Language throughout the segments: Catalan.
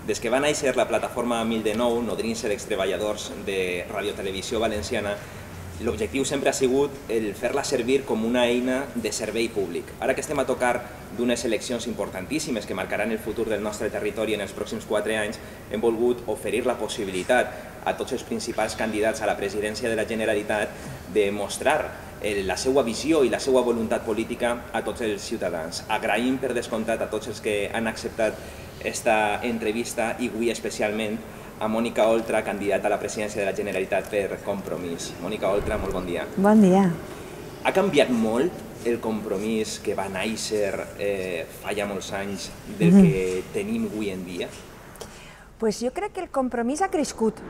Des que va néixer la plataforma 1009, nodrint-se d'extreballadors de Radiotelevisió Valenciana, l'objectiu sempre ha sigut el fer-la servir com una eina de servei públic. Ara que estem a tocar d'unes eleccions importantíssimes que marcaran el futur del nostre territori en els pròxims 4 anys, hem volgut oferir la possibilitat a tots els principals candidats a la presidència de la Generalitat de mostrar la seva visió i la seva voluntat política a tots els ciutadans. Agraïm per descomptat a tots els que han acceptat aquesta entrevista i avui especialment a Mònica Oltra, candidata a la presidència de la Generalitat per Compromís. Mònica Oltra, molt bon dia. Bon dia. Ha canviat molt el Compromís que va néixer fa ja molts anys del que tenim avui en dia? Pues jo crec que el Compromís ha crescut,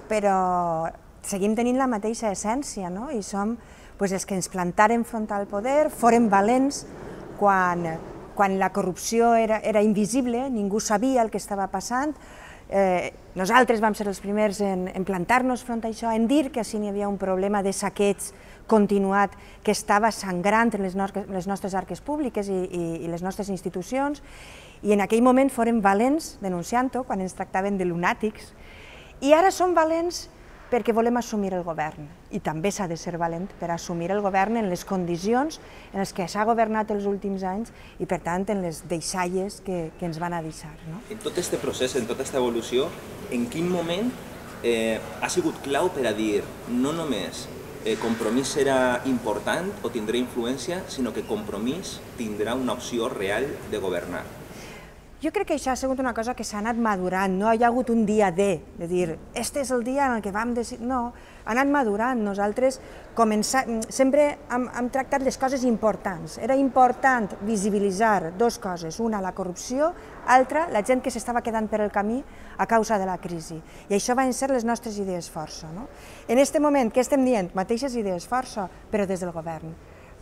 però seguim tenint la mateixa essència, no? I som els que ens plantàrem front al poder, fórem valents quan la corrupció era invisible, ningú sabia el que estava passant. Nosaltres vam ser els primers en plantar-nos front a això, en dir que si n'hi havia un problema de saqueig continuat que estava sangrant en les nostres arques públiques i les nostres institucions, i en aquell moment fórem valents denunciant-ho quan ens tractaven de lunàtics, i ara som valents perquè volem assumir el govern, i també s'ha de ser valent per assumir el govern en les condicions en les que s'ha governat els últims anys i, per tant, en les deixalles que ens van a deixar. En tot aquest procés, en tota aquesta evolució, en quin moment ha sigut clau per a dir no només Compromís serà important o tindrà influència, sinó que Compromís tindrà una opció real de governar? Jo crec que això ha sigut una cosa que s'ha anat madurant, no hi ha hagut un dia de dir, este és el dia en què vam decidir, no, ha anat madurant. Nosaltres sempre hem tractat les coses importants. Era important visibilitzar dues coses, una, la corrupció, altra, la gent que s'estava quedant per el camí a causa de la crisi. I això van ser les nostres idees força. En aquest moment, què estem dient? Mateixes idees força, però des del govern.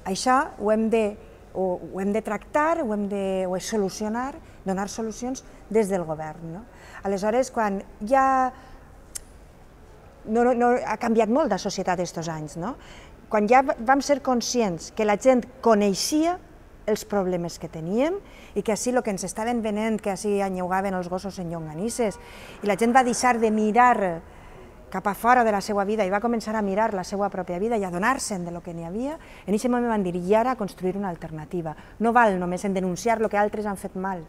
Això ho hem de tractar, ho hem de solucionar, donar solucions des del govern. Aleshores, quan ja ha canviat molt la societat aquests anys, quan ja vam ser conscients que la gent coneixia els problemes que teníem i que així el que ens estaven venent, que així anyugaven els gossos en llonganisses, i la gent va deixar de mirar cap a fora de la seva vida i va començar a mirar la seva pròpia vida i a donar-se'n del que n'hi havia, en aquest moment van dir, i ara construir una alternativa. No val només en denunciar el que altres han fet mal.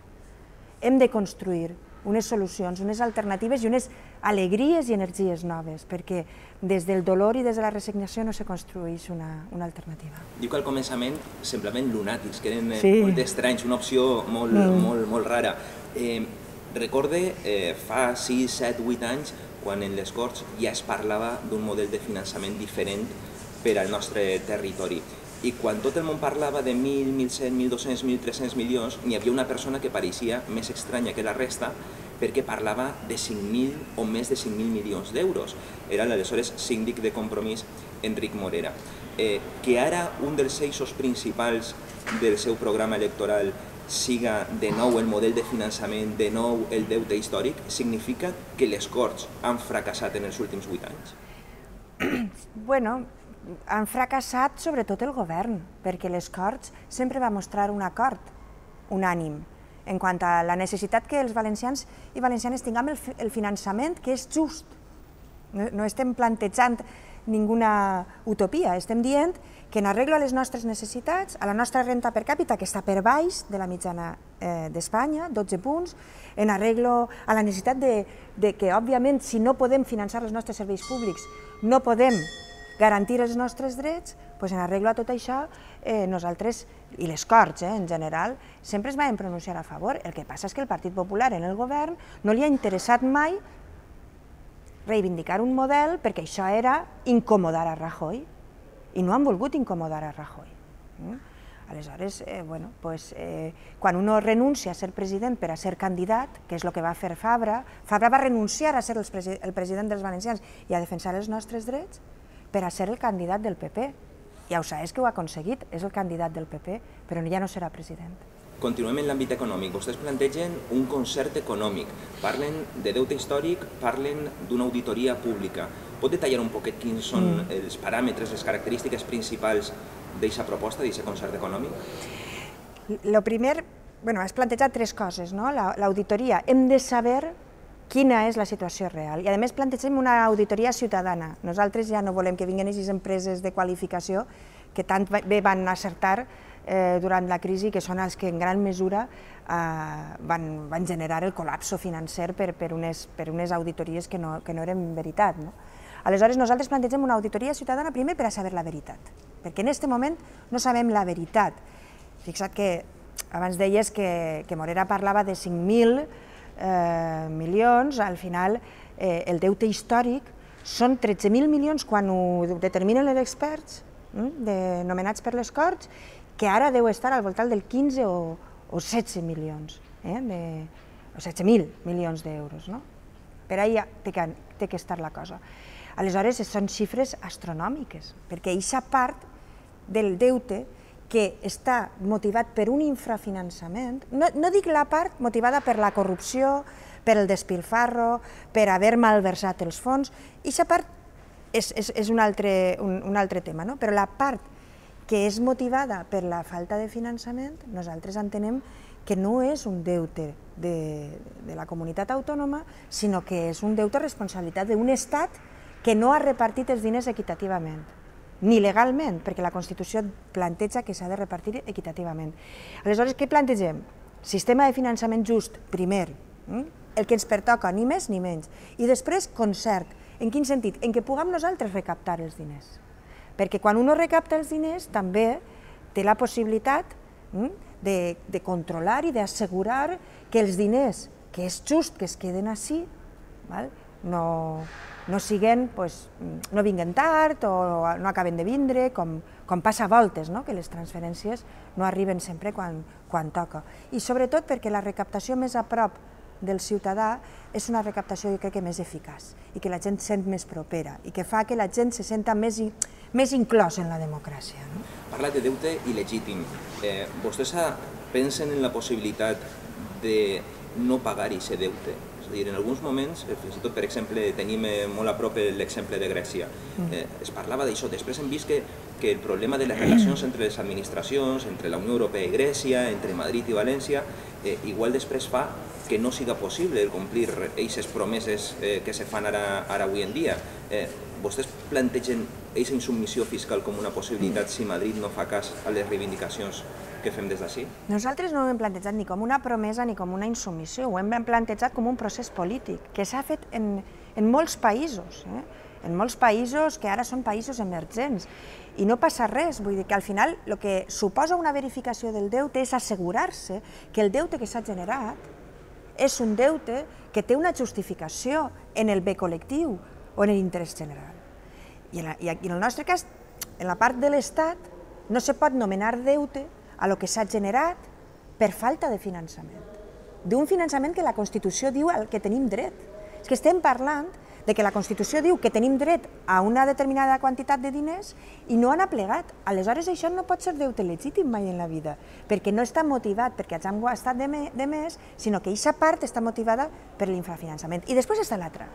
Hem de construir unes solucions, unes alternatives i unes alegries i energies noves, perquè des del dolor i des de la resignació no se construeix una alternativa. Diu que al començament semblaven lunàtics, que eren molt estranys, una opció molt rara. Recorde fa 6, 7, 8 anys quan en les Corts ja es parlava d'un model de finançament diferent per al nostre territori. I quan tot el món parlava de 1.000, 1.100, 1.200, 1.300 milions, n'hi havia una persona que pareixia més estranya que la resta perquè parlava de 5.000 o més de 5.000 milions d'euros. Era l'aleshores síndic de Compromís, Enric Morera. Que ara un dels eixos principals del seu programa electoral siga de nou el model de finançament, de nou el deute històric, significa que les Corts han fracassat en els últims 8 anys? Bueno, han fracassat sobretot el govern, perquè les Corts sempre va mostrar un acord unànim en quant a la necessitat que els valencians i valencianes tinguem el finançament que és just. No estem plantejant ninguna utopia, estem dient que en arreglo a les nostres necessitats, a la nostra renta per càpita, que està per baix de la mitjana d'Espanya, 12 punts, en arreglo a la necessitat de que, òbviament, si no podem finançar els nostres serveis públics, no podem garantir els nostres drets, doncs en arreglo a tot això, nosaltres, i les Corts en general, sempre es van pronunciar a favor. El que passa és que el Partit Popular en el govern no li ha interessat mai reivindicar un model perquè això era incomodar a Rajoy, i no han volgut incomodar a Rajoy. Aleshores, quan uno renuncia a ser president per a ser candidat, que és el que va fer Fabra, Fabra va renunciar a ser el president dels valencians i a defensar els nostres drets per a ser el candidat del PP. Ja ho sabeu que ho ha aconseguit, és el candidat del PP, però ja no serà president. Continuem en l'àmbit econòmic. Vostès plantegen un concert econòmic. Parlen de deute històric, parlen d'una auditoria pública. Pot detallar un poquet quins són els paràmetres, les característiques principals d'aquesta proposta, d'aquest concert econòmic? El primer, has plantejat tres coses, no? L'auditoria, hem de saber quina és la situació real. I a més plantegem una auditoria ciutadana. Nosaltres ja no volem que vinguin aquestes empreses de qualificació que tant bé van acertar durant la crisi, que són els que en gran mesura van generar el col·lapse financer per unes auditories que no eren veritat. Aleshores, nosaltres plantegem una auditoria ciutadana primer per a saber la veritat, perquè en aquest moment no sabem la veritat. Fixa't que abans deies que Morera parlava de 5.000 milions, al final el deute històric són 13.000 milions quan ho determinen els experts nomenats per les Corts, que ara deu estar al voltant del 15 o 16 milions, o 16.000 milions d'euros. Per ahí té que estar la cosa. Aleshores, són xifres astronòmiques, perquè aquesta part del deute que està motivat per un infrafinançament, no dic la part motivada per la corrupció, per el despilfarro, per haver malversat els fons, aquesta part és un altre tema, però la part que és motivada per la falta de finançament, nosaltres entenem que no és un deute de la comunitat autònoma, sinó que és un deute responsabilitat d'un Estat que no ha repartit els diners equitativament, ni legalment, perquè la Constitució planteja que s'ha de repartir equitativament. Aleshores, què plantegem? Sistema de finançament just, primer, el que ens pertoca, ni més ni menys, i després concert. En quin sentit? En què puguem nosaltres recaptar els diners. Perquè quan un recapta els diners també té la possibilitat de controlar i d'assegurar que els diners, que és just que es queden així, no vinguen tard o no acaben de vindre, com passa a voltes, que les transferències no arriben sempre quan toca. I sobretot perquè la recaptació més a prop del ciutadà és una recaptació, jo crec que més eficaç, i que la gent sent més propera, i que fa que la gent se senta més inclòs en la democràcia. Parla de deute il·legítim. Vostès pensen en la possibilitat de no pagar aquest deute? És a dir, en alguns moments, fins i tot, per exemple, tenim molt a prop l'exemple de Grècia. Es parlava d'això. Després hem vist que el problema de les relacions entre les administracions, entre la Unió Europea i Grècia, entre Madrid i València, igual després fa que no siga possible complir aquestes promeses que se fan ara avui en dia. Vostès plantegen aquesta insubmissió fiscal com una possibilitat si Madrid no fa cas a les reivindicacions que fem des d'ací? Nosaltres no ho hem plantejat ni com una promesa ni com una insubmissió, ho hem plantejat com un procés polític que s'ha fet en molts països, en molts països que ara són països emergents, i no passa res, vull dir que al final el que suposa una verificació del deute és assegurar-se que el deute que s'ha generat és un deute que té una justificació en el bé col·lectiu o en l'interès general. I en el nostre cas, en la part de l'Estat, no se pot nomenar deute a lo que s'ha generat per falta de finançament. D'un finançament que la Constitució diu al que tenim dret. És que estem parlant de que la Constitució diu que tenim dret a una determinada quantitat de diners i no han aplegat. Aleshores, això no pot ser deute legítim mai en la vida, perquè no està motivat perquè hagin gastat de més, sinó que aquesta part està motivada per l'infrafinançament. I després està l'altra,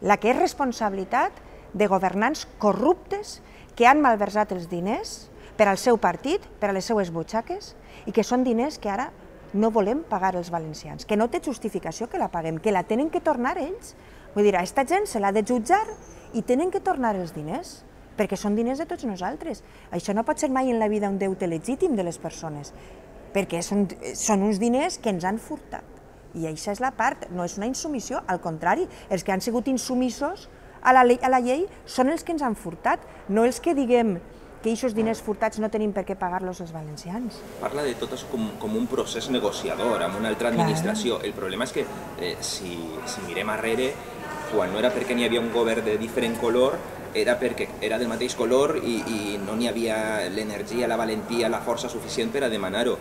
la que és responsabilitat de governants corruptes que han malversat els diners per al seu partit, per a les seues butxaques, i que són diners que ara no volem pagar els valencians, que no té justificació que la paguem, que la tenen que tornar ells. Vull dir, a aquesta gent se l'ha de jutjar i tenen que tornar els diners, perquè són diners de tots nosaltres. Això no pot ser mai en la vida un deute legítim de les persones, perquè són uns diners que ens han furtat. I això és la part, no és una insubmissió, al contrari, els que han sigut insumissos a la llei són els que ens han furtat, no els que diguem que aquests diners furtats no tenim per què pagar-los els valencians. Parla de tot això com un procés negociador amb una altra administració. El problema és que si mirem arrere, quan no era perquè n'hi havia un govern de diferent color, era perquè era del mateix color i no n'hi havia l'energia, la valentia, la força suficient per a demanar-ho.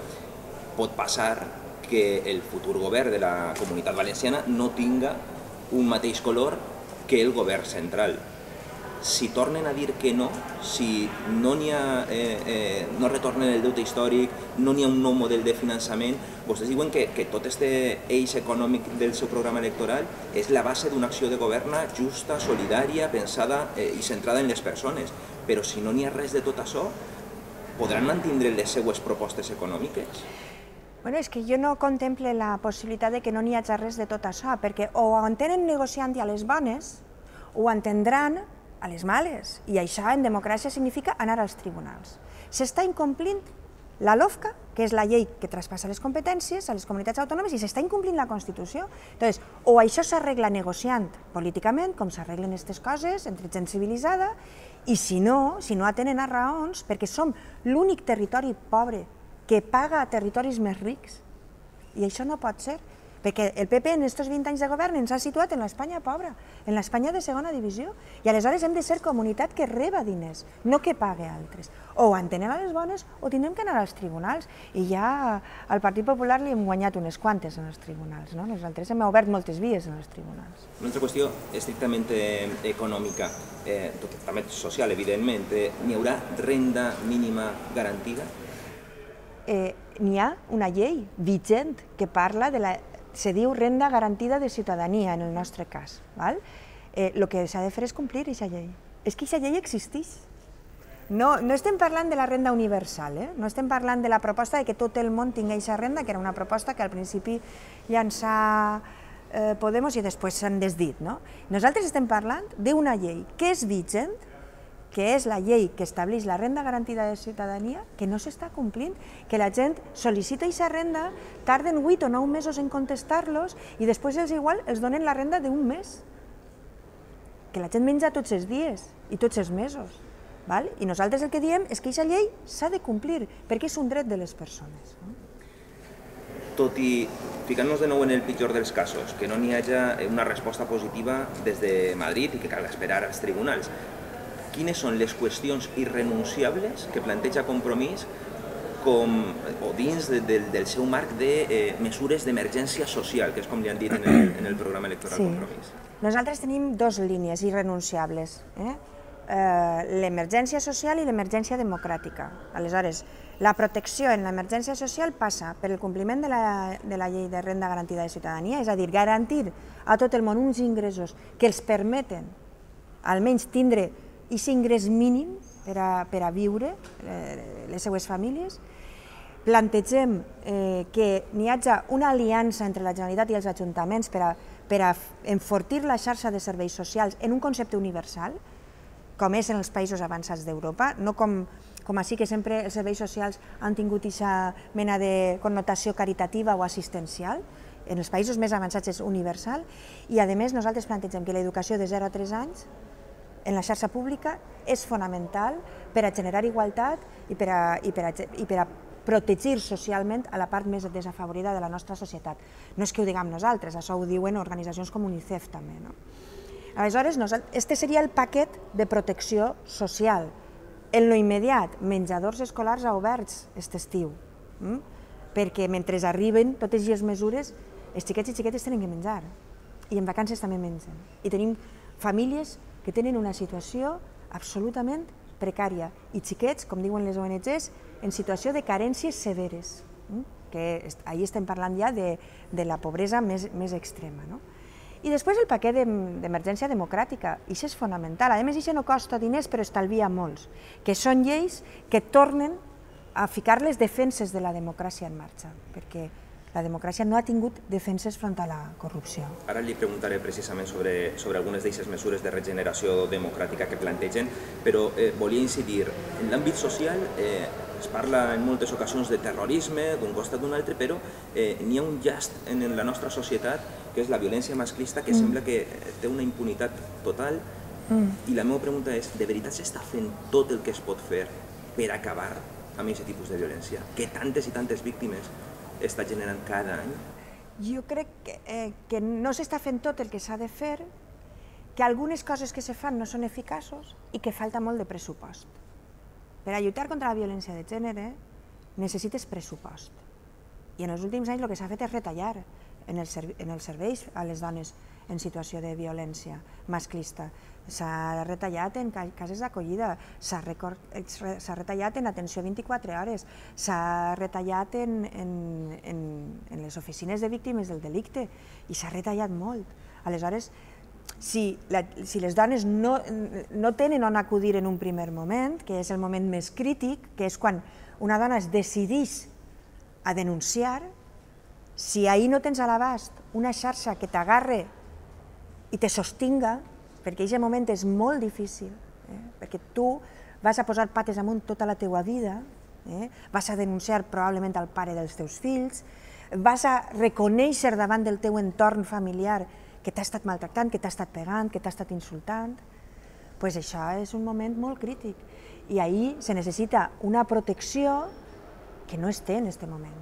Pot passar que el futur govern de la Comunitat Valenciana no tinga un mateix color que el govern central. Si tornen a dir que no, si no retornen el deute històric, no n'hi ha un nou model de finançament, vostès diuen que tot aquest eix econòmic del seu programa electoral és la base d'una acció de govern justa, solidària, pensada i centrada en les persones. Però si no n'hi ha res de tot això, podran mantindre les seues propostes econòmiques? Bueno, és que jo no contemple la possibilitat de que no n'hi hagi res de tot això, perquè o ho entenen negociant a les bones o ho entendran a les males, i això en democràcia significa anar als tribunals. S'està incomplint la LOFCA, que és la llei que traspassa les competències a les comunitats autònomes, i s'està incomplint la Constitució. Llavors, o això s'arregla negociant políticament, com s'arreglen aquestes coses, entre gent civilitzada, i si no atenen a raons, perquè som l'únic territori pobre que paga a territoris més rics. I això no pot ser, perquè el PP en aquests 20 anys de govern ens ha situat en l'Espanya pobra, en l'Espanya de segona divisió, i aleshores hem de ser comunitat que reba diners, no que pague altres. O ho entenen a les bones o tindrem que anar als tribunals, i ja al Partit Popular li hem guanyat unes quantes en els tribunals. Nosaltres hem obert moltes vies en els tribunals. Una altra qüestió estrictament econòmica, també social, evidentment. N'hi haurà renda mínima garantida? N'hi ha una llei vigent que parla de la... se diu renda garantida de ciutadania, en el nostre cas. El que s'ha de fer és complir aquesta llei. És que aquesta llei existeix. No estem parlant de la renda universal, no estem parlant de la proposta de que tot el món tingui aquesta renda, que era una proposta que al principi llançà Podemos i després s'han desdit. Nosaltres estem parlant d'una llei que és vigent, que és la llei que estableix la renda garantida de ciutadania, que no s'està complint, que la gent sol·licita aquesta renda, tarden 8 o 9 mesos en contestar-los i després els igual els donen la renda d'un mes. Que la gent menja tots els dies i tots els mesos. I nosaltres el que diem és que aquesta llei s'ha de complir, perquè és un dret de les persones. Tot i, ficant-nos de nou en el pitjor dels casos, que no n'hi hagi una resposta positiva des de Madrid i que cal esperar als tribunals, quines són les qüestions irrenunciables que planteja Compromís dins del seu marc de mesures d'emergència social, que és com li han dit en el programa electoral Compromís? Nosaltres tenim dues línies irrenunciables, l'emergència social i l'emergència democràtica. Aleshores, la protecció en l'emergència social passa per el compliment de la llei de renda garantida de ciutadania, és a dir, garantir a tot el món uns ingressos que els permeten almenys tindre aquest ingrés mínim per a viure les seues famílies. Plantegem que n'hi hagi una aliança entre la Generalitat i els ajuntaments per a enfortir la xarxa de serveis socials en un concepte universal, com és en els països avançats d'Europa, no com així que sempre els serveis socials han tingut aquesta mena de connotació caritativa o assistencial. En els països més avançats és universal i, a més, nosaltres plantegem que l'educació de 0 a 3 anys en la xarxa pública és fonamental per a generar igualtat i per a protegir socialment a la part més desafavorida de la nostra societat. No és que ho diguem nosaltres, això ho diuen organitzacions com UNICEF també. Aleshores, este seria el paquet de protecció social. En lo immediat, menjadors escolars oberts aquest estiu, perquè mentre arriben totes aquestes mesures, els xiquets i xiquetes tenen que menjar, i en vacances també mengen. I tenim famílies que tenen una situació absolutament precària, i xiquets, com diuen les ONGs, en situació de carències severes, que ahir estem parlant ja de la pobresa més extrema. I després el paquet d'emergència democràtica, i això és fonamental. A més, això no costa diners, però estalvia molts, que són lleis que tornen a ficar les defenses de la democràcia en marxa, perquè la democràcia no ha tingut defenses front a la corrupció. Ara li preguntaré precisament sobre algunes d'aquestes mesures de regeneració democràtica que plantegen, però volia incidir, en l'àmbit social es parla en moltes ocasions de terrorisme d'un costat d'un altre, però n'hi ha un llast en la nostra societat que és la violència masclista, que sembla que té una impunitat total, i la meva pregunta és, de veritat s'està fent tot el que es pot fer per acabar amb aquest tipus de violència, que tantes i tantes víctimes està generant cada any? Jo crec que no s'està fent tot el que s'ha de fer, que algunes coses que se fan no són eficaços i que falta molt de pressupost. Per a lluitar contra la violència de gènere necessites pressupost. I en els últims anys el que s'ha fet és retallar en els serveis a les dones en situació de violència masclista. S'ha retallat en cases d'acollida, s'ha retallat en atenció 24 hores, s'ha retallat en les oficines de víctimes del delicte i s'ha retallat molt. Aleshores, si les dones no tenen on acudir en un primer moment, que és el moment més crític, que és quan una dona es decideix a denunciar. Si ahir no tens a l'abast una xarxa que t'agarre i te sostinga, perquè en aquest moment és molt difícil, perquè tu vas a posar pates amunt tota la teua vida, vas a denunciar probablement al pare dels teus fills, vas a reconèixer davant del teu entorn familiar que t'ha estat maltractant, que t'ha estat pegant, que t'ha estat insultant, doncs això és un moment molt crític. I ahir se necessita una protecció que no es té en aquest moment,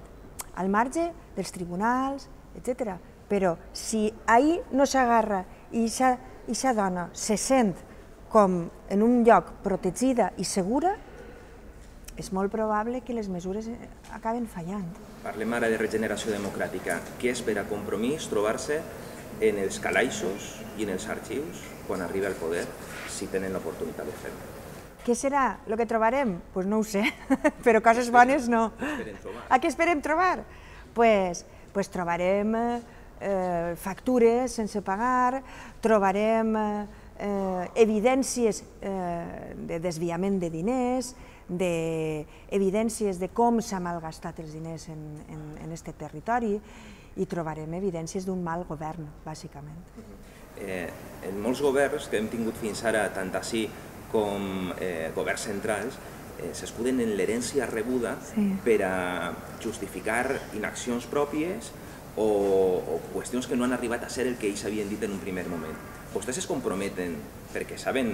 al marge dels tribunals, etc. Però si ahir no s'agarra i aquesta dona se sent com en un lloc protegida i segura, és molt probable que les mesures acaben fallant. Parlem ara de regeneració democràtica. Què espera Compromís trobar-se en els calaixos i en els arxius quan arriba al poder, si tenen l'oportunitat de fer-ho? Què serà el que trobarem? Doncs no ho sé, però coses bones no. Què esperem trobar? Doncs trobarem factures sense pagar, trobarem evidències de desviament de diners, evidències de com s'ha malgastat els diners en aquest territori i trobarem evidències d'un mal govern, bàsicament. En molts governs que hem tingut fins ara, tant ací com governs centrals, s'escuden en l'herència rebuda per a justificar inaccions pròpies o qüestions que no han arribat a ser el que ells havien dit en un primer moment. Vostès es comprometen, perquè saben,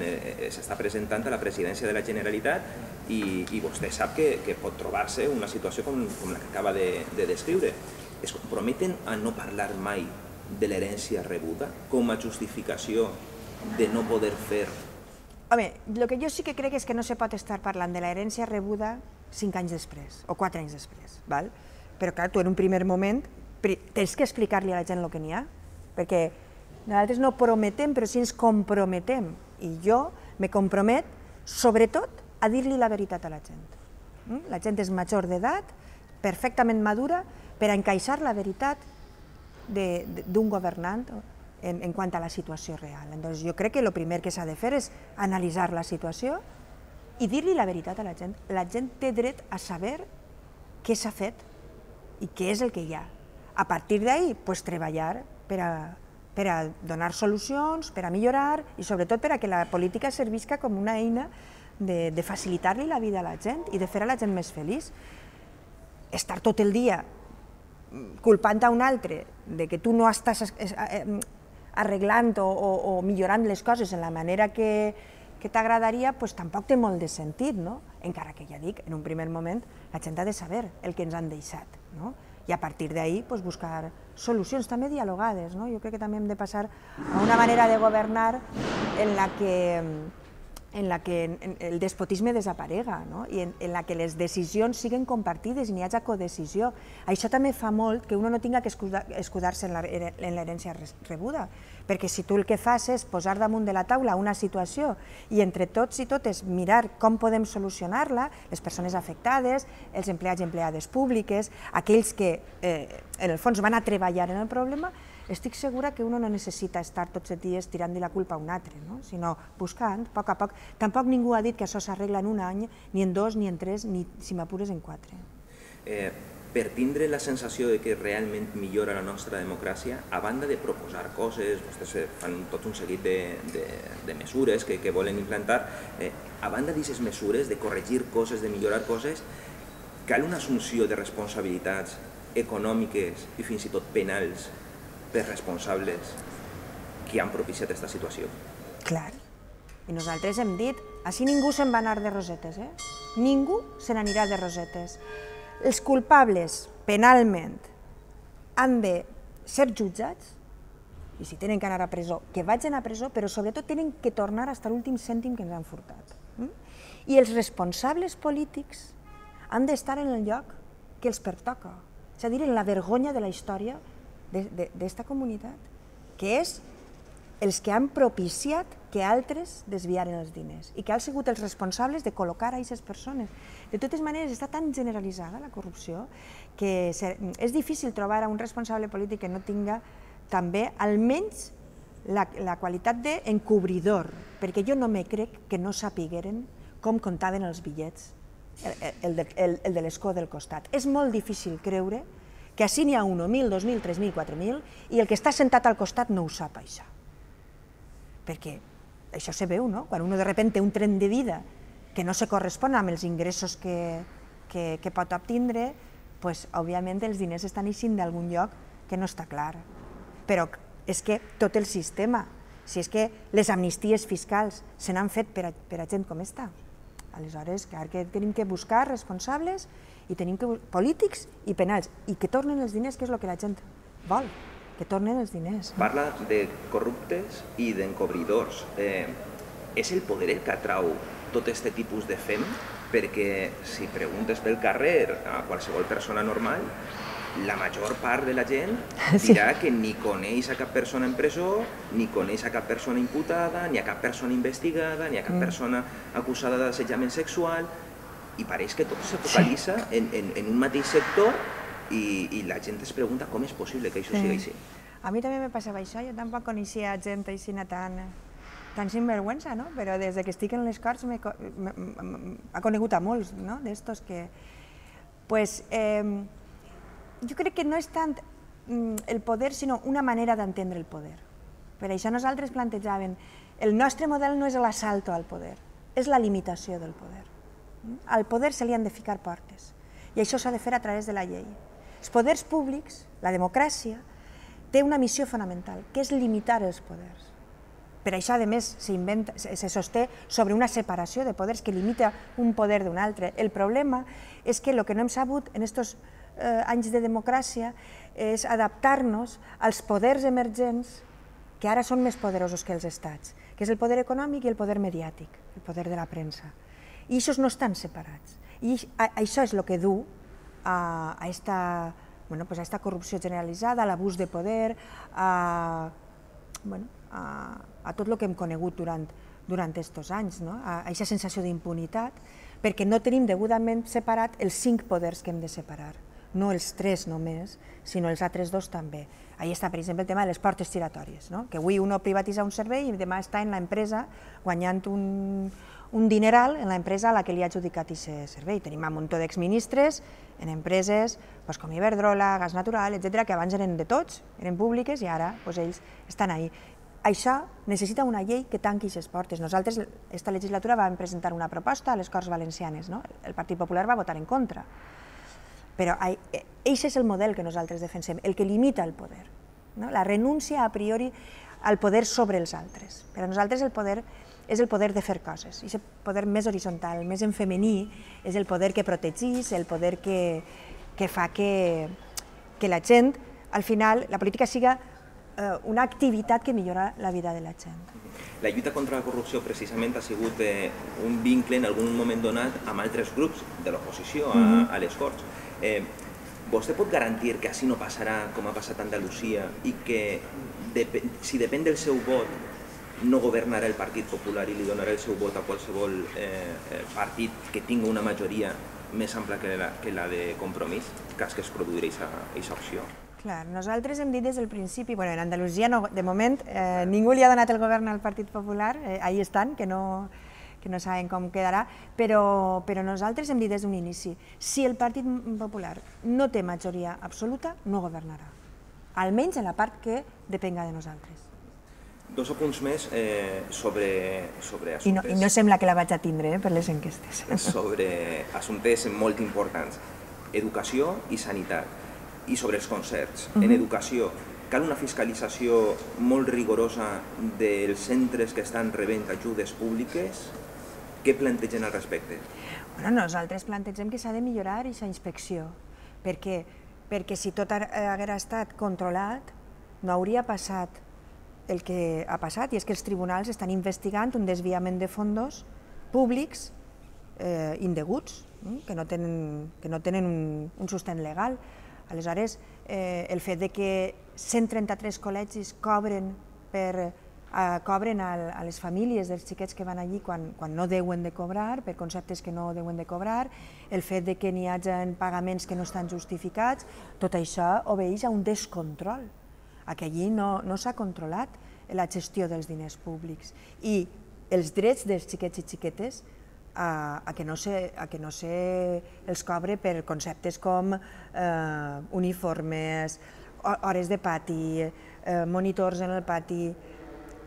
s'està presentant a la presidència de la Generalitat i vostè sap que pot trobar-se una situació com la que acaba de descriure. Es comprometen a no parlar mai de l'herència rebuda com a justificació de no poder fer? Home, el que jo sí que crec és que no se pot estar parlant de l'herència rebuda 5 anys després o 4 anys després, però clar, tu en un primer moment tens que explicar-li a la gent el que n'hi ha, perquè nosaltres no prometem, però sí ens comprometem, i jo me compromet sobretot a dir-li la veritat a la gent. La gent és major d'edat, perfectament madura, per a encaixar la veritat d'un governant en quant a la situació real. Llavors jo crec que el primer que s'ha de fer és analitzar la situació i dir-li la veritat a la gent. La gent té dret a saber què s'ha fet i què és el que hi ha. A partir d'ahí, treballar per a donar solucions, per a millorar i sobretot per a que la política servisca com una eina de facilitar-li la vida a la gent i de fer a la gent més feliç. Estar tot el dia culpant a un altre de que tu no estàs arreglant o millorant les coses en la manera que t'agradaria, doncs tampoc té molt de sentit, encara que ja dic, en un primer moment la gent ha de saber el que ens han deixat i a partir d'ahí buscar solucions també dialogades. Jo crec que també hem de passar a una manera de governar en la que el despotisme desaparega i en la que les decisions siguin compartides i n'hi hagi codecisió. Això també fa molt que uno no tinga que escudar-se en l'herència rebuda, perquè si tu el que fas és posar damunt de la taula una situació i entre tots i totes mirar com podem solucionar-la, les persones afectades, els empleats i empleades públiques, aquells que en el fons van a treballar en el problema, estic segura que uno no necessita estar tots els dies tirant-li la culpa a un altre, sinó buscant, a poc a poc. Tampoc ningú ha dit que això s'arregla en un any, ni en 2, ni en 3, ni, si m'apures, en 4. Per tindre la sensació de que realment millora la nostra democràcia, a banda de proposar coses, vostès fan tot un seguit de mesures que volen implantar, a banda d'aquestes mesures, de corregir coses, de millorar coses, cal una assumpció de responsabilitats econòmiques i fins i tot penals per responsables que han propiciat aquesta situació. Clar. I nosaltres hem dit, així ningú se'n va anar de rosetes, Ningú se n'anirà de rosetes. Els culpables, penalment, han de ser jutjats, i si tenen que anar a presó, que vagin a presó, però sobretot tenen que tornar fins a l'últim cèntim que ens han furtat. I els responsables polítics han d'estar en el lloc que els pertoca, és a dir, en la vergonya de la història d'esta comunitat, que és els que han propiciat que altres desviaren els diners i que han sigut els responsables de col·locar a aquestes persones. De totes maneres, està tan generalitzada la corrupció que és difícil trobar a un responsable polític que no tinga també almenys la qualitat d'encobridor, perquè jo no me crec que no sapigueren com comptaven els bitllets el de l'escó del costat. És molt difícil creure que així n'hi ha 1.000, 2.000, 3.000, 4.000 i el que està sentat al costat no ho sap, això. Perquè això se veu, no? Quan un de sobte té un tren de vida que no se correspon amb els ingressos que pot obtindre, doncs, òbviament, els diners estan eixint d'algun lloc que no està clar. Però és que tot el sistema, si és que les amnisties fiscals se n'han fet per a gent com esta, aleshores, clar que tenim que buscar responsables i tenim que polítics i penals, i que tornen els diners, que és el que la gent vol, que tornen els diners. Parla de corruptes i d'encobridors. És el poder el que atrau tot aquest tipus de fem? Perquè si preguntes pel carrer a qualsevol persona normal, la major part de la gent dirà que ni coneix a cap persona en presó, ni coneix a cap persona imputada, ni a cap persona investigada, ni a cap persona acusada d'assetjament sexual, i pareix que tot se focalitza en un mateix sector i la gent es pregunta com és possible que això sigui així. A mi també me passava això, jo tampoc coneixia gent així tan sinvergüenza, no? Però des que estic en les Corts ha conegut a molts d'estos que... Jo crec que no és tant el poder, sinó una manera d'entendre el poder. Per això nosaltres plantejàvem, el nostre model no és l'assalt al poder, és la limitació del poder. Al poder se li han de ficar portes, i això s'ha de fer a través de la llei. Els poders públics, la democràcia, té una missió fonamental, que és limitar els poders. Per això, a més, se sosté sobre una separació de poders que limita un poder d'un altre. El problema és que el que no hem sabut en aquests anys de democràcia és adaptar-nos als poders emergents que ara són més poderosos que els estats, que és el poder econòmic i el poder mediàtic, el poder de la premsa. I aquests no estan separats. I això és el que du a aquesta corrupció generalitzada, a l'abús de poder, a tot el que hem conegut durant aquests anys, a aquesta sensació d'impunitat, perquè no tenim degudament separat els 5 poders que hem de separar. No els 3 només, sinó els altres 2 també. Ahí està, per exemple, el tema de les portes giratòries, que avui uno privatitza un servei i demà està en l'empresa guanyant un dineral en l'empresa a la que li ha adjudicat aquest servei. Tenim un munt d'exministres en empreses com Iberdrola, Gas Natural, etc., que abans eren de tots, eren públiques i ara ells estan ahí. Això necessita una llei que tanqui aquestes portes. Nosaltres, aquesta legislatura, vam presentar una proposta a les Corts Valencianes. El Partit Popular va votar en contra. Però aquest és el model que nosaltres defensem, el que limita el poder. La renúncia a priori al poder sobre els altres. Per a nosaltres el poder és el poder de fer coses. I el poder més horitzontal, més en femení, és el poder que protegís, el poder que fa que la gent, al final, la política siga una activitat que millora la vida de la gent. La lluita contra la corrupció precisament ha sigut un vincle en algun moment donat amb altres grups de l'oposició a les Corts. Vostè pot garantir que així no passarà com ha passat a Andalusia i que si depèn del seu vot no governarà el Partit Popular i li donarà el seu vot a qualsevol partit que tingui una majoria més ampla que la de Compromís, cas que es produirà aquesta opció? Clar, nosaltres hem dit des del principi, en Andalusia de moment ningú li ha donat el govern al Partit Popular, ahí estan, que no saben com quedarà, però nosaltres hem dit des d'un inici, si el Partit Popular no té majoria absoluta, no governarà, almenys en la part que depenga de nosaltres. 2 apunts més sobre assumptes... I no sembla que la vaig a tindre per les enquestes. Sobre assumptes molt importants, educació i sanitat, i sobre els concerts. En educació, cal una fiscalització molt rigorosa dels centres que estan rebent ajudes públiques. Què plantegen al respecte? Nosaltres plantegem que s'ha de millorar aquesta inspecció, perquè si tot hagués estat controlat, no hauria passat el que ha passat, i és que els tribunals estan investigant un desviament de fons públics indeguts, que no tenen un sostén legal. Aleshores, el fet que 133 col·legis cobren a les famílies dels xiquets que van allí quan no deuen de cobrar, per conceptes que no deuen de cobrar, el fet que n'hi hagi pagaments que no estan justificats, tot això obeeix a un descontrol. Que allí no s'ha controlat la gestió dels diners públics. I els drets dels xiquets i xiquetes a que no se els cobre per conceptes com uniformes, hores de pati, monitors en el pati,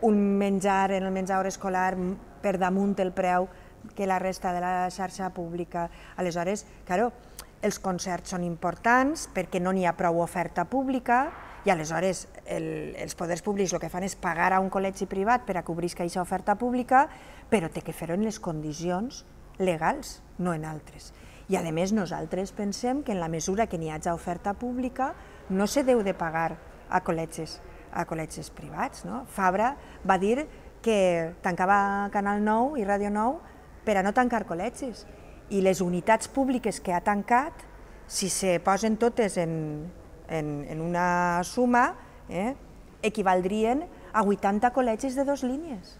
un menjar en el menjador escolar per damunt el preu que la resta de la xarxa pública. Aleshores, claro, els concerts són importants perquè no n'hi ha prou oferta pública i aleshores els poders públics el que fan és pagar a un col·legi privat per a cobrir aquesta oferta pública, però té que fer-ho en les condicions legals, no en altres. I a més nosaltres pensem que en la mesura que n'hi hagi oferta pública no se deu de pagar a col·legis privats. Fabra va dir que tancava Canal 9 i Ràdio 9 per a no tancar col·legis. I les unitats públiques que ha tancat, si se posen totes en una suma, equivaldrien a 80 col·legis de 2 línies.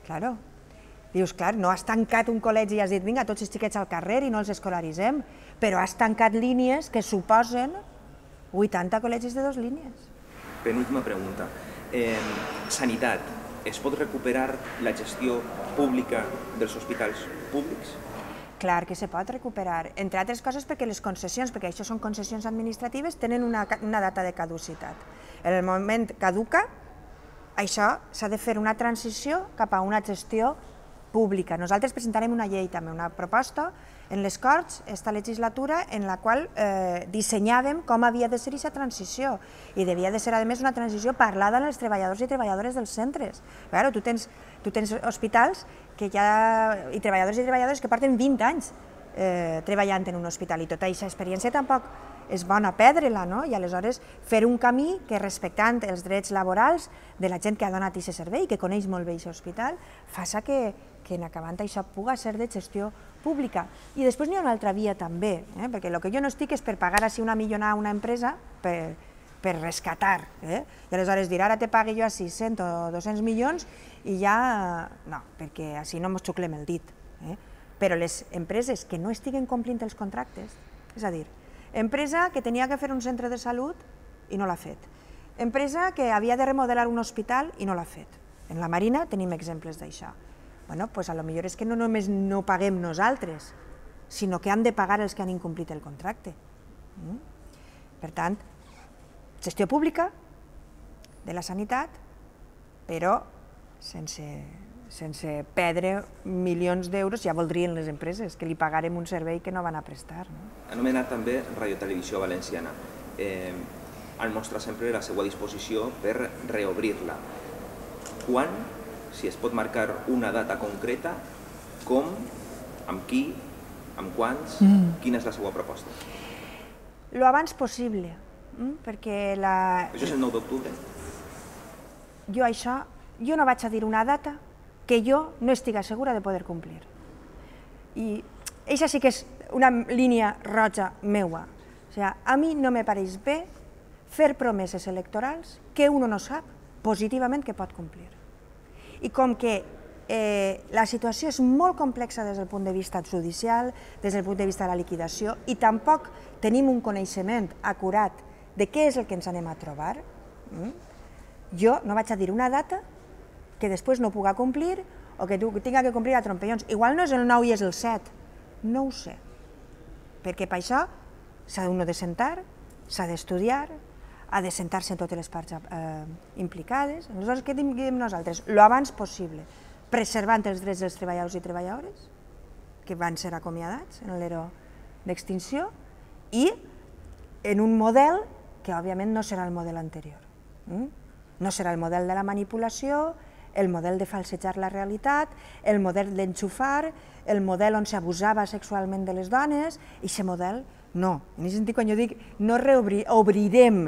Claro. Dius, clar, no has tancat un col·legi i has dit, vinga, tots els xiquets al carrer i no els escolaritzem, però has tancat línies que suposen 80 col·legis de 2 línies. Penúltima pregunta. Sanitat. Es pot recuperar la gestió pública dels hospitals públics? Clar que se pot recuperar, entre altres coses perquè les concessions, perquè això són concessions administratives, tenen una data de caducitat. En el moment caduca, això s'ha de fer una transició cap a una gestió pública. Nosaltres presentarem una llei també, una proposta en les Corts, esta legislatura, en la qual dissenyàvem com havia de ser aquesta transició i devia de ser, a més, una transició parlada amb els treballadors i treballadores dels centres. Claro, tu tens hospitals i treballadores que porten 20 anys treballant en un hospital i tota aquesta experiència tampoc és bona perdre-la, i aleshores fer un camí que, respectant els drets laborals de la gent que ha donat aquest servei, que coneix molt bé aquest hospital, faça que en acabant això puga ser de gestió pública. I després n'hi ha una altra via també, perquè el que jo no estic és per pagar així una millonada a una empresa per rescatar. I aleshores dir, ara te pague jo a 600 o 200 milions i ja... No, perquè així no ens xuclem el dit. Però les empreses que no estiguen complint els contractes, és a dir, empresa que tenia que fer un centre de salut i no l'ha fet. Empresa que havia de remodelar un hospital i no l'ha fet. En la Marina tenim exemples d'això. Bueno, doncs potser és que no només no paguem nosaltres, sinó que han de pagar els que han incomplit el contracte. Per tant, gestió pública de la sanitat, però sense perdre milions d'euros, ja voldrien les empreses, que li pagarem un servei que no van a prestar. Anomenat també Radio Televisió Valenciana. Al mostrar sempre la seva disposició per reobrir-la. Quan, si es pot marcar una data concreta, com, amb qui, amb quants, quina és la seva proposta? Lo abans possible, perquè la... Això és el 9 d'octubre? Jo no vaig a dir una data que jo no estigui segura de poder complir. I això sí que és una línia roja meua. O sigui, a mi no me pareix bé fer promeses electorals que uno no sap positivament que pot complir. I com que la situació és molt complexa des del punt de vista judicial, des del punt de vista de la liquidació, i tampoc tenim un coneixement acurat de què és el que ens anem a trobar, jo no vaig a dir una data que després no puga complir o que tinga que complir a trompellons. Igual no és el 9 i és el 7, no ho sé, perquè per això s'ha de sentar, s'ha d'estudiar, ha de sentar-se en totes les parts implicades. Aleshores, què diem nosaltres? Lo abans possible, preservant els drets dels treballadors i treballadores, que van ser acomiadats en l'ERO d'extinció, i en un model que, òbviament, no serà el model anterior. No serà el model de la manipulació, el model de falsejar la realitat, el model d'enxufar, el model on s'abusava sexualment de les dones, i aquest model no. En aquest sentit, quan jo dic no obrirem,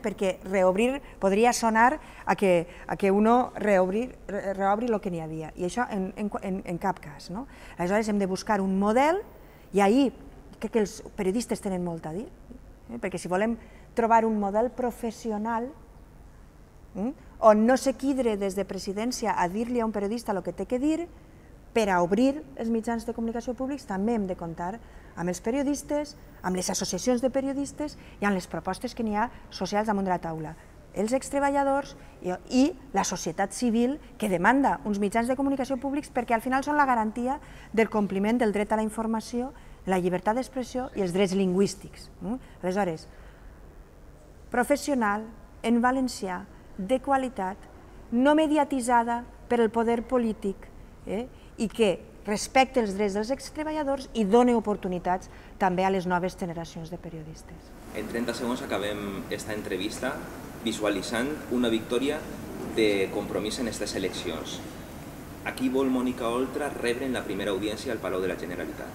perquè reobrir podria sonar a que uno reobri el que n'hi havia, i això en cap cas. Aleshores hem de buscar un model, i ahir crec que els periodistes tenen molt a dir, perquè si volem trobar un model professional on no s'equidre des de presidència a dir-li a un periodista el que té que dir, per a obrir els mitjans de comunicació públics també hem de comptar amb els periodistes, amb les associacions de periodistes i amb les propostes que n'hi ha socials damunt de la taula. els extreballadors i la societat civil que demanda uns mitjans de comunicació públics perquè al final són la garantia del compliment del dret a la informació, la llibertat d'expressió i els drets lingüístics. Aleshores, professional, en valencià, de qualitat, no mediatitzada per el poder polític i que respecte els drets dels extreballadors i doni oportunitats també a les noves generacions de periodistes. En 30 segons acabem esta entrevista visualitzant una victòria de Compromís en aquestes eleccions. A qui vol Mònica Oltra rebre en la primera audiència al Palau de la Generalitat?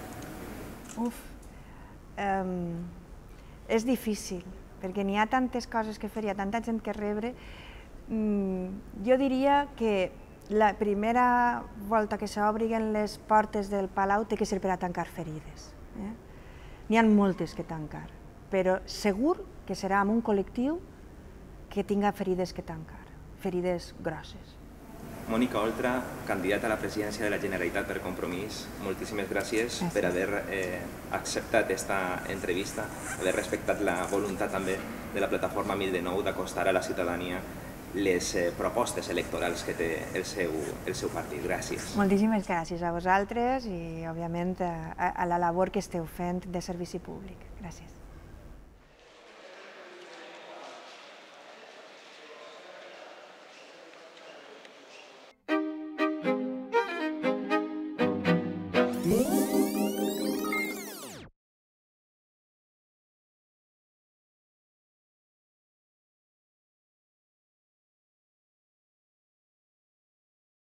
És difícil, perquè n'hi ha tantes coses que fer, hi ha tanta gent que rebre. Jo diria que la primera volta que s'obrin les portes del Palau té que ser per a tancar ferides. N'hi ha moltes que tancar, però segur que serà amb un col·lectiu que tinga ferides que tancar, ferides grosses. Mònica Oltra, candidata a la presidència de la Generalitat per Compromís, moltíssimes gràcies per haver acceptat aquesta entrevista, haver respectat la voluntat també de la plataforma 1009 d'acostar a la ciutadania les propostes electorals que té el seu partit. Gràcies. Moltíssimes gràcies a vosaltres i, òbviament, a la labor que esteu fent de servici públic. Gràcies. Yeah.